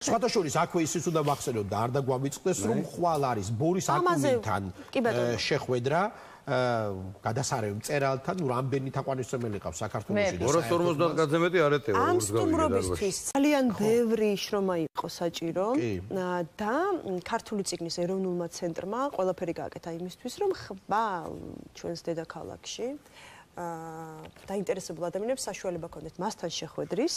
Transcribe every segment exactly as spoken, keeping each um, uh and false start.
სხვათა შორის აქვე ისიც უნდა ვახსენოთ და არ დაგვამიწყდეს რომ ხვალ არის ბორის აკუნინთან შეხვედრა გადასარევ მწერალთან რამდენი თაყვანისმცემელი ყავს საქართველოში და ორას ორმოცდაათ კაცზე მეტი არ ეტევა ამ სტუმრობისთვის ძალიან ბევრი შრომა იყო საჭირო და ქართული წიგნის ეროვნულმა ცენტრმა ყველაფერი გააკეთა იმისთვის რომ ხბა ჩვენს დედაქალაქში დაინტერესებულ ადამიანებს საშუალება ჰქონდეთ მასთან შეხვედრის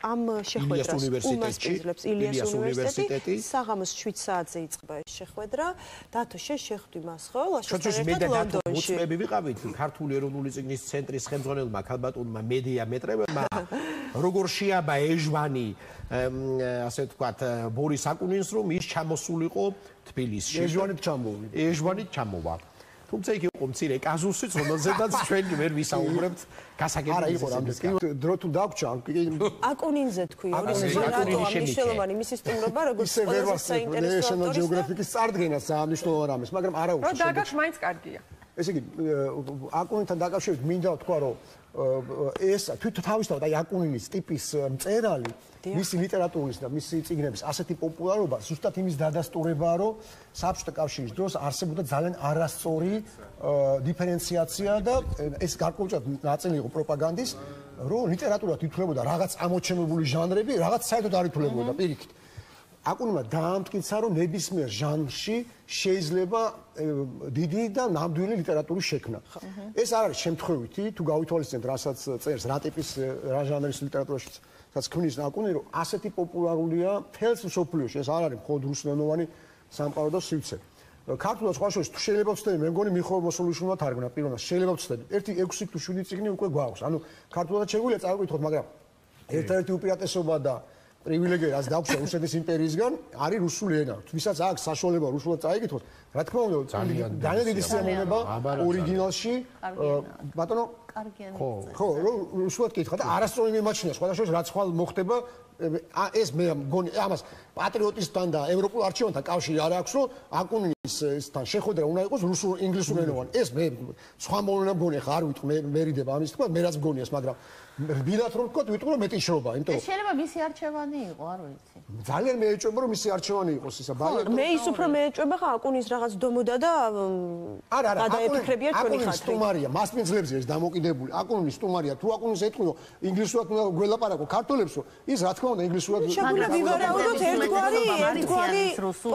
ამ შეხვედრას უმასპინძლებს ილიას უნივერსიტეტი საღამოს შვიდ საათზე იწყება ეს შეხვედრა დათო შეხვდი მას ხო ლაშქრობასთან ლონდონში მოწმები ვიყავით ქართული ეროვნული წიგნის ცენტრის ხელმძღვანელმა ქალბატონმა მედია მეტრევმა როგორ შეაბა ეჟვანი ასე ვთქვათ ბორის აკუნინს რომ ის ჩამოსულიყო თბილისში ეჟვანით ჩამოვიდა ეჟვანით ჩამოვა თუმცა იქ იყო მცირე კაზუსიც, რომელზედაც ჩვენ ვერ ვისაუბრებთ გასაგებია. არა, იყო რამდენი დრო თუ დაგვრჩა. აკუნინზე თქვი, აკუნინი მნიშვნელოვანი მისი სტუმრობა, როგორც ყველაზე საინტერესო ავტორის გეოგრაფიკის წარდგენას სანიშნულოვან ამის, მაგრამ არა უცხო. რა დაგაქვს მაინც კარგია. ესე იგი, აკუნინთან დაკავშირებით მინდა ვთქვა, რომ ეს თვითონ თავისთავად აი აკუნინის ტიპის მწერალი მისი ლიტერატურის და მისი წიგნების ასეთი პოპულარობა ზუსტად იმის დადასტურებაა, რომ საბჭოთა კავშირის დროს არსებობდა ძალიან არასწორი დიფერენციაცია და ეს გარკვეულწილად ნაწილი იყო პროპაგანდის, რომ ლიტერატურად ითვლებოდა რაღაც ამოჩენებული ჟანრები, რაღაც საერთოდ არ ითვლებოდა პირიქით. აკუნინმა დაამტკიცა, რომ ნებისმიერ ჟანრში შეიძლება დიდი და ნამდვილი ლიტერატურის შექმნა. ეს არ არის შემთხვევითი, თუ გავითვალისწინებთ, რასაც წერს, რა ტიპის რა ჟანრის ლიტერატურაში რაც ქმნის აკუნინი, რომ ასეთი პოპულარულია მთელს მსოფლიოში, ეს არ არის მხოლოდ რუსულენოვანი სამყარო და სივრცე. ქართულად სხვა შორის თუ შეიძლება ვცდები, მე მგონი მიხეილ მოსულიშვილმა თარგმნა პირველად, შეიძლება ვცდები. ერთი ექვსი თუ შვიდი წიგნი უკვე გვაქვს. ანუ ქართულად შეგვიძლია წავიკითხოთ, მაგრამ ერთ-ერთი უპირატესობა და პრივილეგია რაც დაგვსვა რუსეთის იმპერიისგან არის რუსული ენა. ვისაც აქვს საშუალება რუსულად წაიკითხოს, რა თქმა უნდა, ძალიან დიდი სიამოვნება ორიგინალში ბატონო ხო, ხო, რუსულად კითხა და არასწორი მიმაჩნია, სხვადასხვა რაც ხვალ მოხდება, ეს მე მგონი ამას პატრიოტისთან და ევროპულ არჩევანთან კავშირი არ აქვს, რომ აკუნინისთან შეხვედრა უნდა იყოს რუსულ ინგლისურენოვანი. ეს მე სხვა მოვლენა მგონი ხა არ ვიტყვი, მე მერიდება ამის თქვა, მე რაც მგონია ეს, მაგრამ რბილად რომ ვთქვა, ვიტყვი რომ მეტი შრობა, იმიტომ რომ შეიძლება მისი არჩევანი იყო, არ ვიცი. ძალიან მეეჭვება რომ მისი არჩევანი იყოს ისა ბალეტო. მე ის უფრო მეეჭვება ხა აკუნის რაღაც დომოდა და არა, არა, გადაეფიქრებია ჩვენი ხალხი. სტუმარია, მასპინძლებზე ეს დამოკიდებული. აკუნის სტუმარია, თუ აკუნის ეთქვი რომ ინგლისურად უნდა გველაპარაკო ქართველებს, ის რა თქმა უნდა ინგლისურად შეგვიძლია ვივარაუდოთ ერთგვარი ერთგვარი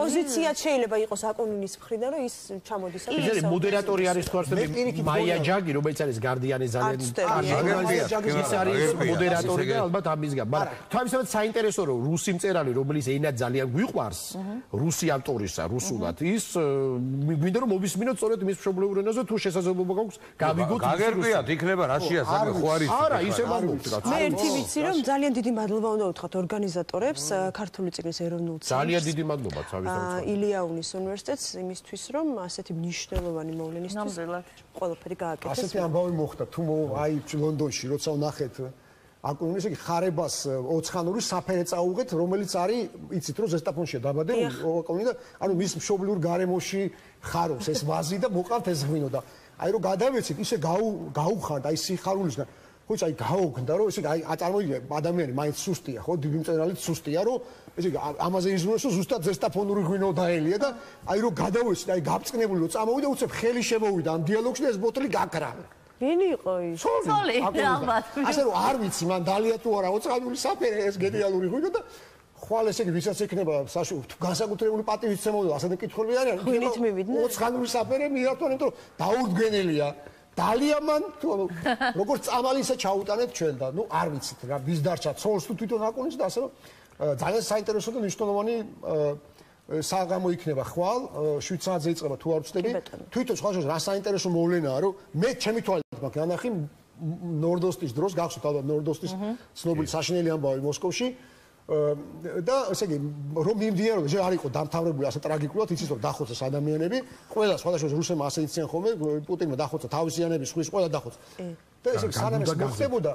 პოზიცია შეიძლება იყოს აკუნინის მხრიდან, რომ ის ჩამოდის. ეს მოდერატორი არის თუ არსები მაია ჯაგი, რომელიც არის გარდიანი ძალიან კარგი. ის არის მოდერატორი და ალბათ ამის გამ. მაგრამ თავისთავად საინტერესო რომ რუსი მწერალი, რომელიც ენა ძალიან გვიყვარს, რუსი ავტორისა, რუსულად, ის გვინდა რომ მოვისმინოთ სწორედ მის მშობლიურ ენაზე, თუ შესაძლებლობა გაქვს გავიგოთ. გაგერკვიათ, იქნება რაშია საქმე, ხო არის? არა, ისე ვამბობთ რა. მე ერთი ვიცი რომ ძალიან დიდი მადლობა უნდა უთხრათ ორგანიზატორებს, ქართული წიგნის ეროვნულ ცენტრს. ძალიან დიდი მადლობა თავისთავად. ილიაუნის უნივერსიტეტს იმისთვის, რომ ასეთი მნიშვნელოვანი მოვლენისთვის ყველაფერი გააკეთეს. ასეთი ამბავი მოხდა, თუ აი ლონდონში როცა ვნახეთ აკუნინის იგი ხარებას ოცხანური საფერე წაუღეთ, რომელიც არის, იცით რომ ზესტაფონშია დაბადებული აკუნინი და ანუ მის მშობლიურ გარემოში ხარობს ეს ვაზი და მოყავთ ეს ღვინო და აი რომ გადავეცით, ისე გაუხანდა აი სიხარულისგან. ხო, აი გაუგნდა რომ ესე აი წარმოვიდგინე ადამიანი მაინც სუსტია, ხო, დიდი მწერალიც სუსტია, რომ ესე ამაზე იზრუნოს, რომ ზუსტად ზესტაფონური ღვინო დაელია და აი რომ გადავეცით, აი გაბწყნებული რომ წამოვიდა, უცებ ხელი შემოვიდა ამ დიალოგში და ეს ბოთლი გაქრა. ვინი იყო ის? სოლი, ალბათ. ასე რომ არ ვიცი, მან დალია თუ არა ოცხანური საფერე ეს გენიალური ღვინო და ხვალ ესე იგი ვისაც ექნება განსაკუთრებული პატივისცემότητα, ასეთი კითხვები არიან. ღვინით მივიდნენ? ოცხანური საფერე მიართვა, იმიტომ რომ დაურდგენელია. დალია მან თუ როგორც წამალი ისე ჩაუტანეთ ჩვენ და ნუ არ ვიცით რა ვის დარჩა ცოლს თუ თვითონ აკუნის და ასე რომ ძალიან საინტერესო და მნიშვნელოვანი საღამო იქნება ხვალ შვიდ საათზე იწყება თუ არ ვცდები თვითონ სხვა შორის რა საინტერესო მოვლენაა რომ მე ჩემი თვალით მაქვს ნანახი ნორდოსტის დროს გახსოვთ ალბათ ნორდოსტის ცნობილი საშინელი ამბავი მოსკოვში და ესე იგი რომ მიმდინარეობდა ჯერ არ იყო დამთავრებული ასე ტრაგიკულად იცით რომ დახოცეს ადამიანები ყველა სხვადასხვა რუსებმა ასე იციან ხოლმე პუტინმა დახოცა თავისიანები სხვის ყველა დახოცა და ესე იგი სანამ ეს მოხდებოდა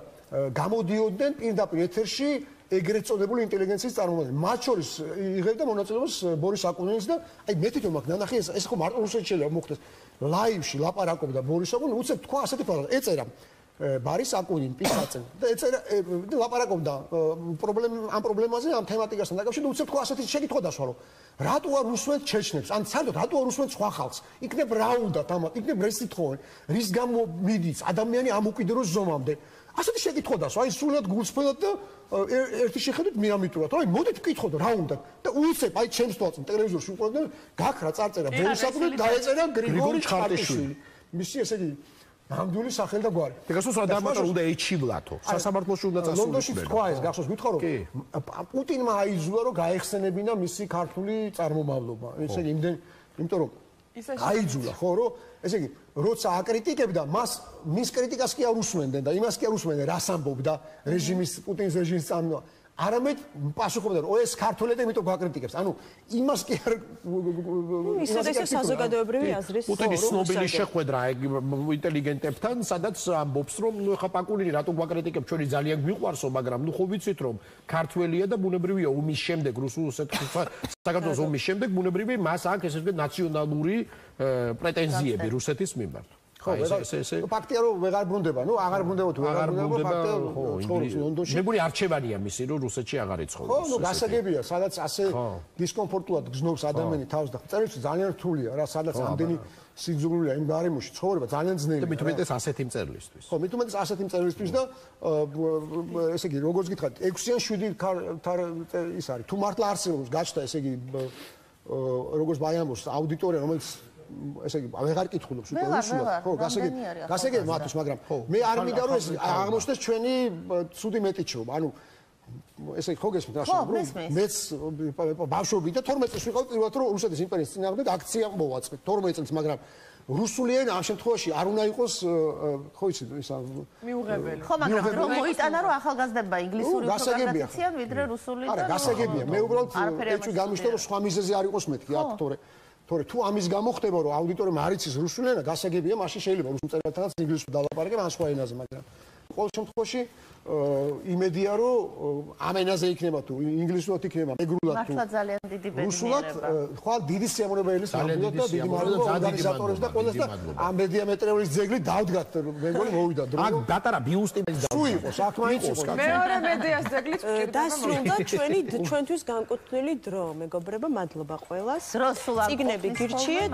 გამოდიოდნენ პირდაპირ ეთერში ეგრეთ წოდებული ინტელიგენციის წარმომადგენლები მათ შორის იღებდა მონაწილეობას ბორის აკუნინის და აი მე თვითონ მაგ ნანახი ეს ეს ხო მარტო რუსეთში შეიძლება მოხდეს ლაივში ლაპარაკობდა ბორის აკუნინი უცებ თქვა ასეთი ფაქტი ეწერა ბარის აკუნინ პისაცენ და ეწერა ლაპარაკობდა პრობლემა ამ პრობლემაზე ამ თემატიკასთან დაკავშირებით უცებ თქვა ასეთი შეკითხვა დასვა რომ რატო არ უსვენთ ჩეჩნებს ან საერთოდ რატო არ უსვენთ სხვა ხალხს იქნებ რა უნდა თამათ იქნებ რესი თხოვენ რის გამო მიდის ადამიანი ამ უკიდურეს ზომამდე ასეთი შეკითხვა დასვა აი სულად გულსფრენად და ერთი შეხედვით მიამიტურად აი მოდით ვკითხოთ რა უნდა და უცებ აი ჩემს თვალწინ ტელევიზორში უყურებდნენ გაქრა წარწერა ბორისაკვი დაეწერა გრიგორი ჩხარტიშვილი მისი ესე იგი ნამდვილი სახელი და გვარი. ეგასოს ადამიანთან უნდა ეჩივლათო. სასამართლოში უნდა წასულიყო. ლონდონში თქვა ეს, გახსოვს, გითხრა რომ პუტინმა აიძულა რომ გაეხსენებინა მისი ქართული წარმომავლობა. ესე იგი, იმდენ, იმიტომ რომ აიძულა, ხო, რომ ესე იგი, როცა აკრიტიკებდა, მას მის კრიტიკას კი არ უსმენდნენ და იმას კი არ უსმენდნენ, რას ამბობდა რეჟიმის პუტინის რეჟიმის წარმომავლობა. არამედ პასუხობდა რომ ეს ქართველები იმიტომ გაკრიტიკებს. ანუ იმას კი არ ისე და ისე საზოგადოებრივი აზრის პუტინის ცნობილი შეხვედრა ინტელიგენტებთან, სადაც ამბობს რომ ნუ ხა პაკულინი რატო გაკრიტიკებს, ჩვენი ძალიან გვიყვარსო, მაგრამ ნუ ხო ვიცით რომ ქართველია და ბუნებრივია ომის შემდეგ რუსულ საქართველოს ომის შემდეგ ბუნებრივია მას აქვს ესე ვთქვათ ნაციონალური პრეტენზიები რუსეთის მიმართ. ხო, ეს ეს ფაქტია რომ ვეღარ ბრუნდება, ნუ აღარ ბრუნდება თუ ვეღარ ბრუნდება, ხო, ცხოვრობს ლონდონში. მეგონი არჩევანია მისი, რომ რუსეთში აღარ იცხოვროს. ხო, ნუ გასაგებია, სადაც ასე დისკომფორტულად გზნობს ადამიანი თავს და წერილში ძალიან რთულია რა, სადაც ამდენი სიძულვია იმ გარემოში ცხოვრება ძალიან ძნელია. და მით უმეტეს ასეთი მწერლისთვის. ხო, მით უმეტეს ასეთი მწერლისთვის და ესე იგი, როგორც გითხრათ, ექვსი ან შვიდი ის არის. თუ მართლა არსებობს გაჩნდა, ესე იგი, როგორც ბაიამბოს აუდიტორია, რომელიც ესე იგი, აღარ კითხულობს უკვე უსულოდ. ხო, გასაგებია. გასაგებია მათთვის, მაგრამ მე არ მინდა რომ ეს აღმოჩნდეს ჩვენი ცუდი მეტიჩობა. ანუ ესე იგი, ხო გესმით რა შევ, მეც ბავშვობი და თორმეტ წელს ვიყავ პირველად რომ რუსეთის იმპერიის წინააღმდეგ აქცია მოვაწყეთ. თორმეტ წელს, მაგრამ რუსული ენა ამ შემთხვევაში არ უნდა იყოს, ხო იცი, ისა მიუღებელი. ხო, მაგრამ რომ მოიტანა რომ ახალგაზრდებმა ინგლისური უფრო გაგაციციან ვიდრე რუსული და არა, გასაგებია. მე უბრალოდ ეჭვი გამიშტო რომ სხვა მიზეზი არ იყოს მეთქი აქ, თორე თორე თუ ამის გამო ხდება რომ აუდიტორიამ არ იცის რუსული ენა, გასაგებია, მაშინ შეიძლება რუსულ წერილთანაც ინგლისურად დალაპარაკებ ან სხვა ენაზე, მაგრამ ყოველ შემთხვევაში იმედია რომ ამ ენაზე იქნება თუ ინგლისურად იქნება მეგრულად თუ მართლა ძალიან დიდი ბედნიერება. ხვალ დიდი სიამოვნებელის ნამდვილად და დიდი მადლობა ორგანიზატორებს და ყველას და ამ მედიამეტრეულის ძეგლი დავდგათ მეგონი მოვიდა დრო. აქ გატარა ბიუსტი თუ იყო საქმე იყო. მეორე მედიას ძეგლიც დასრულდა ჩვენი ჩვენთვის განკუთვნილი დრო, მეგობრებო, მადლობა ყველას. დრო სულ არ წიგნები გირჩიეთ.